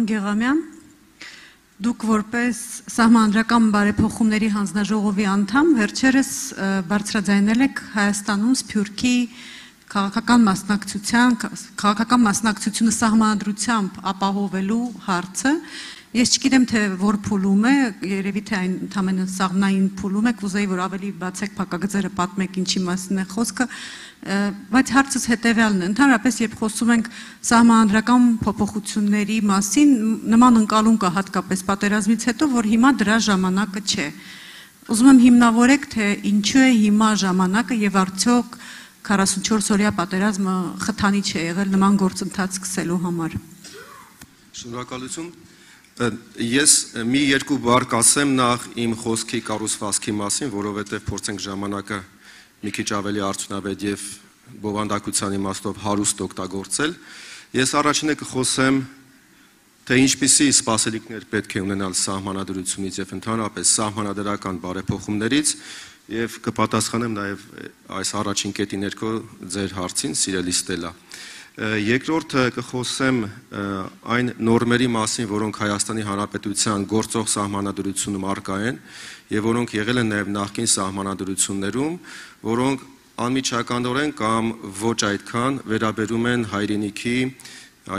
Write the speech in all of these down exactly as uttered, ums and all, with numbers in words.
պարոն Գեղամյան, դուք որպես սահմանադրական բարեփոխումների հանձնաժողովի անդամ վերջերս բարձրաձայնել եք Հայաստանում Սփյուռքի քաղաքական մասնակցության, քաղաքական մասնակցությունը սահմանադրությամբ ապահովելու հարցը։ Ես չգիտեմ, թե որ փուլում է, երևի թե այն ընդամենը սաղմնային փուլում է, կուզեի, որ ավելի բացեք փակագծերը, պատմեք ինչի մասին է խոսքը, բայց հարցս հետևյալն է, ընդհանրապես երբ խոսում ենք սահմանադրական փոփոխությունների մասին, նման ընկալում կա հատկապես պատերազմից հետո, որ հիմա դրա ժամանակը չէ։ Ուզում եմ հիմնավորեք, թե ինչու է հիմա ժամանակը եւ արդյոք քառասունչորս օրյա պատերազմը խթանի չէ եղել նման գործընթաց սկսելու համար։ Շնորհակալություն։ Ես մի երկու բառ կասեմ նախ իմ խոսքի կառուցվածքի մասին, որովհետև փորձենք ժամանակը մի քիչ ավելի արդյունավետ եւ բովանդակության իմաստով հարուստ օգտագործել։ Ես առաջինը կխոսեմ, թե ինչպիսի սպասելիքներ պետք է ունենալ սահմանադրությունից եւ ընդհանրապես սահմանադրական բարեփոխումներից եւ կպատասխանեմ նաեւ այս առաջին կետի ներքո ձեր հարցին, սիրելի Ստելա։ Երկրորդը կխոսեմ այն նորմերի մասին, որոնք Հայաստանի Հանրապետության գործող սահմանադրությունում առկա են եւ որոնք եղել են նաեւ նախկին սահմանադրություններում, որոնք անմիջականորեն կամ ոչ այդքան վերաբերում են հայրենիքի,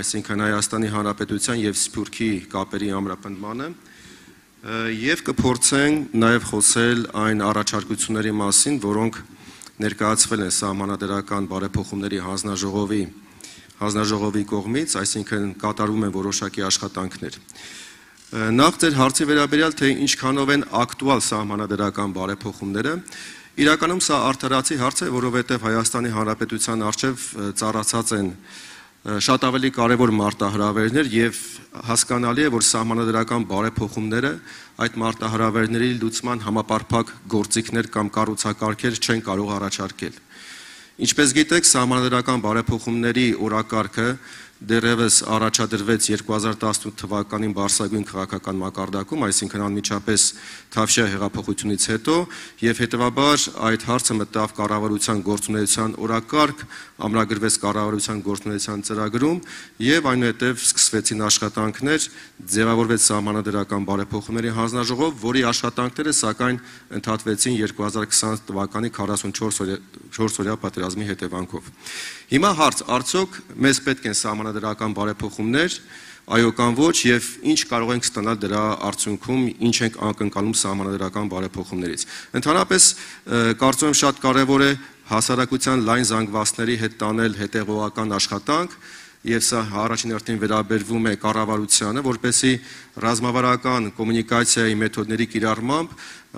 այսինքն Հայաստանի Հանրապետության եւ Սփյուռքի կապերի ամրապնդմանը, եւ կփորձենք նաեւ խոսել այն առաջարկությունների մասին, որոնք ներկայացվել են սահմանադրական բարեփոխումների հանձնաժողովի հանձնաժողովի կողմից, այսինքն կատարում են որոշակի աշխատանքներ։ Նախ ձեր հարցի վերաբերյալ, թե ինչքանով են ակտուալ սահմանադրական բարեփոխումները, իրականում սա արդարացի հարց է, որովհետև Հայաստանի Հանրապետության առջև ծառացած են շատ ավելի կարևոր մարտահրավերներ եւ հասկանալի է, որ սահմանադրական բարեփոխումները այդ մարտահրավերների լուծման համապարփակ գործիքներ կամ կառուցակարգեր չեն կարող առաջարկել։ Ինչպես գիտեք, սահմանադրական բարեփոխումների օրակարգը դեռևս առաջադրվեց երկու հազար տասնութ թվականին Բարսագույն քաղաքական մակարդակում, այսինքն անմիջապես Թավշյա հեղափոխությունից հետո, եւ հետեւաբար այդ հարցը մտավ կառավարության գործունեության օրակարգ, ամրագրվեց կառավարության գործունեության ծրագրում եւ այնուհետեւ սկսվեցին աշխատանքներ, ձևավորվեց սահմանադրական բարեփոխումների հանձնաժողով, որի աշխատանքները սակայն ընդհատվեցին երկու հազար քսան թվականի քառասունչորս օրյա պատերազմի հետևանքով։ Հիմա հարց, արդյոք մեզ պետք են սահմանադրական բարեփոխումներ, այո կամ ոչ, եւ ինչ կարող ենք ստանալ դրա արդյունքում, ինչ ենք ակնկալում սահմանադրական բարեփոխումներից։ Ընդհանրապես կարծում եմ շատ կարեւոր է հասարակության լայն զանգվածների հետ տանել հետեւողական աշխատանք, եւ սա առաջին հերթին վերաբերվում է կառավարությանը, որպեսզի ռազմավարական կոմունիկացիայի մեթոդների կիրառմամբ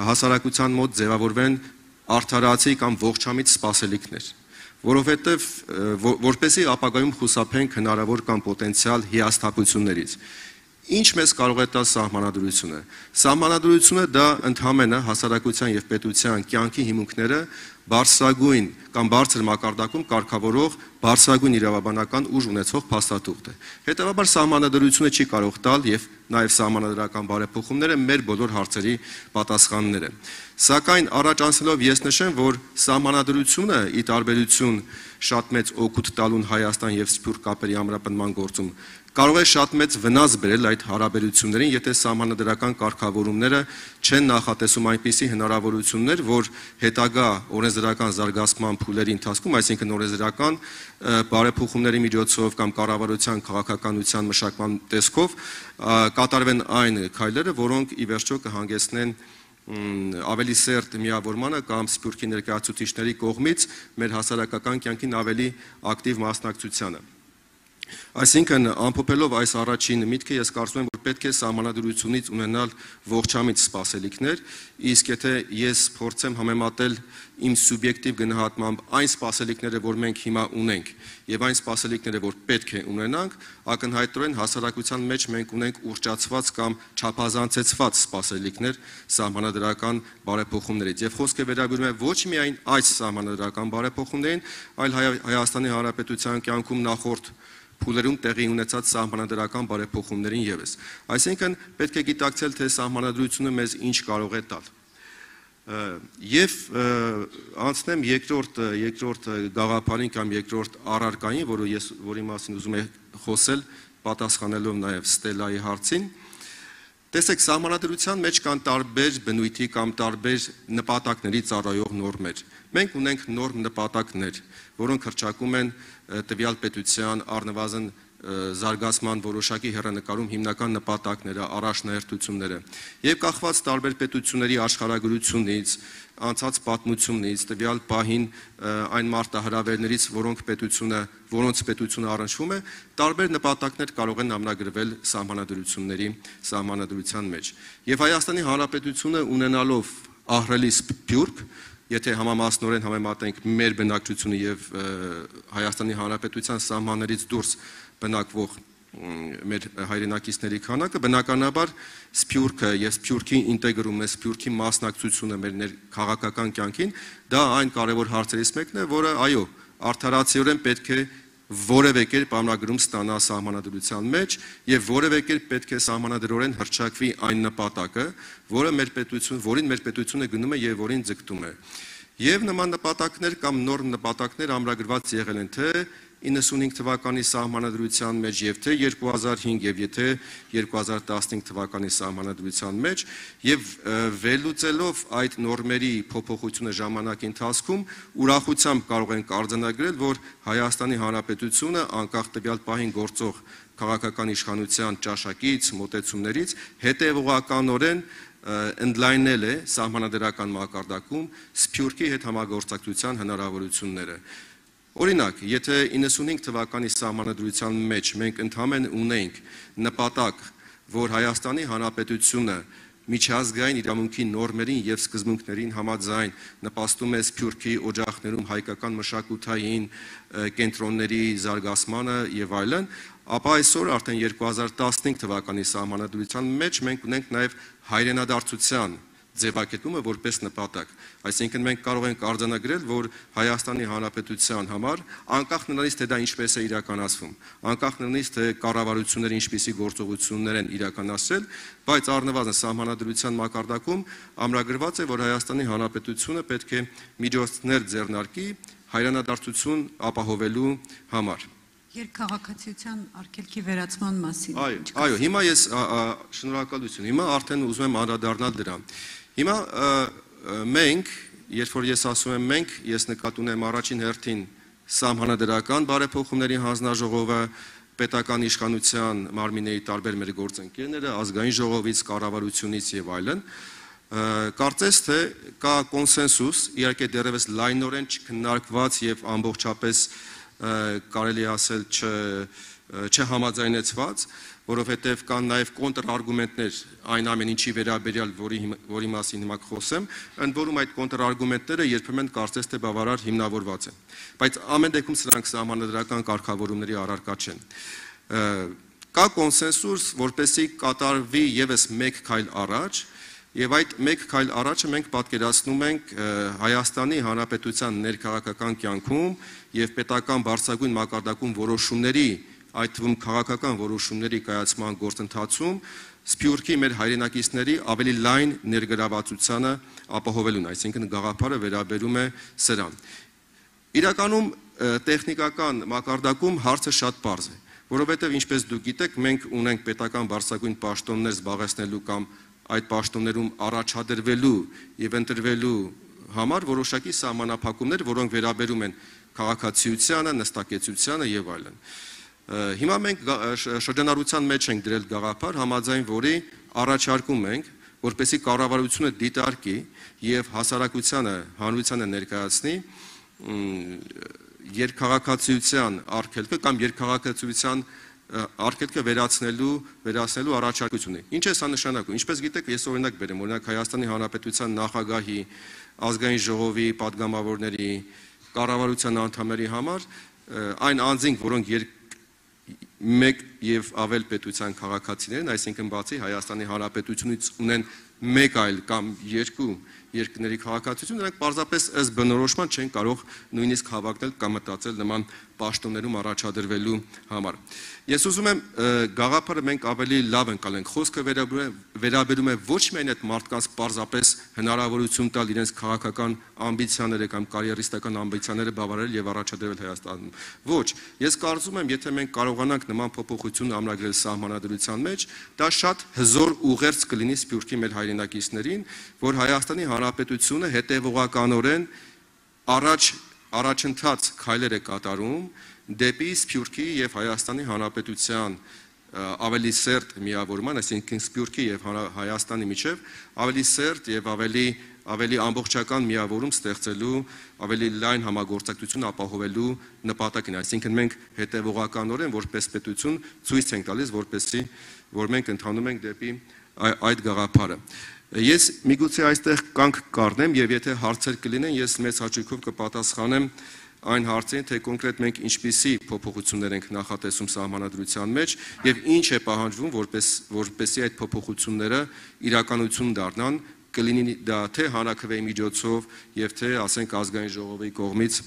հասարակության մոտ ձևավորվեն արդարացի կամ ողջամիտ սպասելիքներ, որովհետև որպեսզի ապագայում խուսափենք հնարավոր կամ պոտենցիալ հիասթափություններից։ Ինչ մեզ կարող է տալ սահմանադրությունը։ Սահմանադրությունը դա ընդհանրապես հասարակության եւ պետության կյանքի հիմունքները բարձրագույն կամ բարձր մակարդակում կարգավորող բարձրագույն իրավաբանական ուժ ունեցող փաստաթուղթ է։ Հետևաբար սահմանադրությունը չի կարող տալ եւ նաեւ սահմանադրական բարեփոխումները մեր բոլոր հարցերի պատասխաններ են։ Սակայն առաջ անցնելով ես նշեմ, որ սահմանադրությունը ի տարբերություն շատ մեծ օգուտ տալուն Հայաստան եւ Սփյուռք կապերի ամրապնդման գործում կարող է շատ մեծ վնաս բերել այդ հարաբերություններին, եթե սահմանադրական կարգավորումները չեն նախատեսում այնպիսի հնարավորություններ, որ հետագա օրենսդրական զարգացման փուլերի ընթացքում, այսինքն օրենսդրական բարեփոխումների միջոցով կամ կառավարության քաղաքականության մշակման տեսքով կատարվեն այն քայլերը, որոնք ի վերջո կհանգեցնեն ավելի սերտ միավորմանը կամ Սփյուռքի ներկայացուցիչների կողմից մեր հասարակական կյանքին ավելի ակտիվ մասնակցությանը։ Այսինքն, ամփոփելով այս առաջին միտքը, ես կարծում եմ, որ պետք է սահմանադրությունից ունենալ ողջամիտ սպասելիքներ, իսկ եթե ես փորձեմ համեմատել իմ սուբյեկտիվ գնահատմամբ այն սպասելիքները, որ մենք հիմա ունենք, եւ այն սպասելիքները, որ պետք է ունենանք, ակնհայտորեն հասարակության մեջ մենք ունենք ուռճացված կամ չափազանցեցված սպասելիքներ սահմանադրական բարեփոխումներից։ Եվ խոսքը վերաբերում է ոչ միայն այս սահմանադրական բարեփոխումներին, այլ Հայաստանի Հանրապետության կյանքում նախորդ փուլերում տեղի ունեցած սահմանադրական բարեփոխումներին եւս։ Այսինքն պետք է գիտակցել, թե սահմանադրությունը մեզ ինչ կարող է տալ։ Եվ անցնեմ երկրորդ երկրորդ գաղափարին կամ երկրորդ առարկային, որը ես որի մասին ուզում եմ խոսել, պատասխանելով նաև Ստելայի հարցին, տեսեք, սահմանադրության մեջ կան տարբեր բնույթի կամ տարբեր նպատակների ծառայող նորմեր։ Մենք ունենք նորմ նպատակներ, որոնք հռչակում են տվյալ պետության առնվազն զարգացման որոշակի հեռանկարում հիմնական նպատակները, առաջնահերթությունները եւ կախված տարբեր պետությունների աշխարհագրությունից, անցած պատմությունից, տվյալ պահին այն մարտահրավերներից, որոնք պետությունը, որոնց պետությունը առնչվում է, տարբեր նպատակներ կարող են ամնագրվել սահմանադրությունների սահմանադրության մեջ։ Եվ Հայաստանի Հանրապետությունը ունենալով ահռելի սփյուռք, եթե համամասնորեն համեմատենք մեր բնակչությունը եւ Հայաստանի Հանրապետության սահմաններից դուրս բնակվող մեր հայրենակիցների քանակը, բնականաբար սփյուռքը եւ սփյուռքի ինտեգրումը, սփյուռքի մասնակցությունը մեր քաղաքական կյանքին, դա այն կարևոր հարցերից մեկն է, որը այո, արդարացիորեն պետք է որևէ կերպ ամնագրում ստանա սահմանադրության մեջ եւ որևէ կերպ պետք է սահմանադրորեն հռչակվի այն նպատակը, որը մեր պետություն, որին մեր պետությունը գնում է եւ որին ձգտում է։ Եվ նման նպատակներ կամ նորմ նպատակներ ամրագրված եղել են թե իննսունհինգ թվականի սահմանադրության մեջ եւ թե երկու հազար հինգ եւ եթե երկու հազար տասնհինգ թվականի սահմանադրության մեջ եւ վերլուծելով այդ նորմերի փոփոխությունը ժամանակի ընթացքում ուրախությամբ կարող ենք արձանագրել, որ Հայաստանի Հանրապետությունը անկախ տվյալ պահին գործող քաղաքական իշխանության ճաշակից, մոտեցումներից հետեւողականորեն ընդլայնել է սահմանադրական մակարդակում սփյուռքի հետ համագործակցության հնարավորությունները։ Օրինակ, եթե իննսունհինգ թվականի սահմանադրության մեջ մենք ընդհանրեն ունենք նպատակ, որ Հայաստանի Հանրապետությունը միջազգային իրավունքի նորմերին եւ սկզբունքներին համաձայն նպաստում է սփյուռքի օջախներում հայկական մշակութային կենտրոնների զարգացմանը եւ այլն, ապա այսօր արդեն երկու հազար տասնհինգ թվականի սահմանադրության մեջ մենք ունենք նաեւ հայրենադարձության ձևակերպումը որպես նպատակ։ Այսինքն մենք կարող ենք արձանագրել, որ Հայաստանի Հանրապետության համար անկախ նրանից թե դա ինչպես է իրականացվում, անկախ նրանից թե կառավարությունները ինչպիսի գործողություններ են իրականացրել, բայց առնվազն սահմանադրության մակարդակում ամրագրված է, որ Հայաստանի Հանրապետությունը պետք է միջոցներ ձեռնարկի հայրենադարձություն ապահովելու համար։ Երկքաղաքացիության արգելքի վերացման մասին։ Այո, այո, հիմա ես շնորհակալություն, հիմա արդեն ուզում եմ անդրադառնալ դրան։ Հիմա մենք, երբ որ ես ասում եմ մենք, ես նկատի ունեմ առաջին հերթին սահմանադրական բարեփոխումների հանձնաժողովը, պետական իշխանության մարմինների տարբեր մեր գործընկերները, ազգային ժողովից, կառավարությունից եւ այլն, կարծես թե կա կոնսենսուս, իհարկե դեռևս լայնորեն չքննարկված եւ ամբողջապես կարելի ասել չհամաձայնեցված, որովհետև կան նաև կոնտրարգումենտներ այն ամեն ինչի վերաբերյալ, որի, որի մասին հիմա խոսեմ, ընդ որում այդ կոնտրարգումենտները երբեմն կարծես թե բավարար հիմնավորված են, բայց ամեն դեպքում սրանք սահմանադրական կարգավորումների առարկա չեն։ Կա կոնսենսուս, որպեսզի կատարվի եւս մեկ քայլ առաջ, եւ այդ մեկ քայլ առաջը մենք պատկերացնում ենք Հայաստանի Հանրապետության ներքաղաքական կյանքում եւ պետական բարձրագույն մակարդակում որոշումների, այդ թվում քաղաքական որոշումների կայացման գործընթացում սփյուռքի մեր հայրենակիցների ավելի լայն ներգրավվածությանը ապահովելուն, այսինքն գաղափարը վերաբերում է սրան։ Իրականում տեխնիկական մակարդակում հարցը շատ պարզ է, որովհետեւ ինչպես դուք գիտեք, մենք ունենք պետական բարձրագույն պաշտոններ զբաղեցնելու կամ այդ պաշտոններում առաջադրվելու եւ ընտրվելու համար որոշակի սահմանափակումներ, որոնք վերաբերում են քաղաքացիությանը, նստակեցությանը եւ այլն։ Հիմա մենք շրջանառության մեջ ենք դրել գաղափար, համաձայն որի առաջարկում ենք, որպեսզի կառավարությունը դիտարկի եւ հասարակությանը, հանրությանը ներկայացնի երկքաղաքացիության արգելքը կամ երկքաղաքացիության արգելքը վերացնելու վերացնելու առաջարկությունը։ Ինչ է սա նշանակում։ Ինչպես գիտեք, ես օրինակ բերեմ, օրինակ Հայաստանի Հանրապետության նախագահի, ազգային ժողովի падգամավորների, կառավարության անդամների համար այն անձինք, որոնք մեկ եւ ավել պետության քաղաքացիներ են, այսինքն բացի Հայաստանի Հանրապետությունից ունեն մեկ այլ կամ երկու երկրների քաղաքացիություն, նրանք պարզապես ըստ բնորոշման չեն կարող նույնիսկ հավակնել կամ մտածել նման պաշտոններում առաջադրվելու համար։ Ես ուզում եմ գաղափարը մենք ավելի լավ ընկալենք, խոսքը վերաբերում է ոչ միայն այդ մարդկանց պարզապես հնարավորություն տալ իրենց քաղաքական ամբիցիաները կամ կարիերիստական ամբիցիաները բավարարել եւ առաջադրվել Հայաստանում։ Ոչ, ես կարծում եմ, եթե մենք կարողանանք նման փոփոխություն ամրագրել սահմանադրության մեջ, դա շատ հզոր ուղերձ կլինի Սփյուռքի մեր հայրենակիցներին, որ Հայաստանի Հանրապետությունը հետևողականորեն առաջ առաջընթաց քայլեր է կատարում դեպի Սփյուռքի եւ Հայաստանի Հանրապետության ավելի սերտ միավորման, այսինքն Սփյուռքի եւ Հայաստանի միջև ավելի սերտ եւ ավելի ավելի ամբողջական միավորում ստեղծելու, ավելի լայն համագործակցություն ապահովելու նպատակին, այսինքն մենք հետևողականորեն որպես պետություն ցույց ենք տալիս, որպեսզի որ մենք ընթանում ենք դեպի այդ գաղափարը։ Ես միգուցե այստեղ կանգ կառնեմ եւ եթե հարցեր կլինեն, ես մեծ հաճույքով կպատասխանեմ այն հարցերին, թե կոնկրետ մենք ինչպիսի փոփոխություններ ենք նախատեսում սահմանադրության մեջ եւ ինչ է պահանջվում, որպես որպեսզի այդ փոփոխությունները իրականություն դառնան, կլինի դա թե հանրաքվեի միջոցով եւ թե ասենք ազգային ժողովի կողմից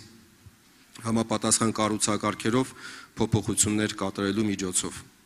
համապատասխան կառուցակարգերով փոփոխություններ կատարելու միջոցով։